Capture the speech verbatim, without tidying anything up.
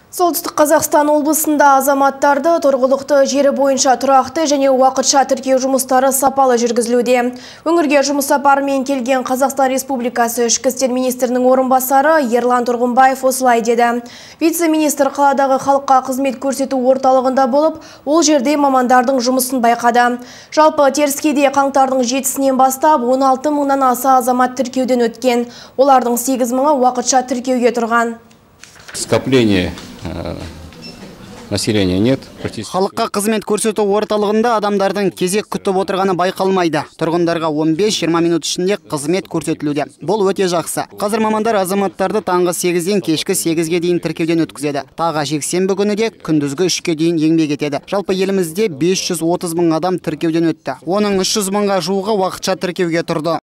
Солтүстік Қазақстан облысында азаматтарды тұрғылықты жері бойынша тұрақты және уақытша тіркеу жұмыстары сапалы жүргізілуде. Өңірге жұмыс сапарымен келген Қазақстан Республикасы ішкі істер министрінің орынбасары Ерлан Тұрғынбаев осылай деді. Вице-министр қаладағы халыққа қызмет көрсету орталығында болып, ол жерде мамандардың жұмысын байқады. Жалпы теріскейде қаңтардың жетісінен бастап он алты мыңнан аса азамат тіркеуден өткен. Олардың сегіз мыңы уақытша тіркеуге тұрған. Скопление населения нет. Халыққа қызмет көрсету орталығында адамдардың кезек күтіп отырғаны байқалмайды. Тұрғындарға он бес жиырма минут ішінде қызмет көрсетілуде. Бұл өте жақсы. Қазір мамандар азаматтарды таңғы сегізден кешкі сегізге дейін тіркеуден өткізеді. Тағы жексенбі күні де күндізгі үшке дейін еңбек етеді. Жалпы елімізде бес жүз отыз мың адам тіркеуден өтті. Оның үш жүз мыңға жуығы уақытша тіркеуге тұрды.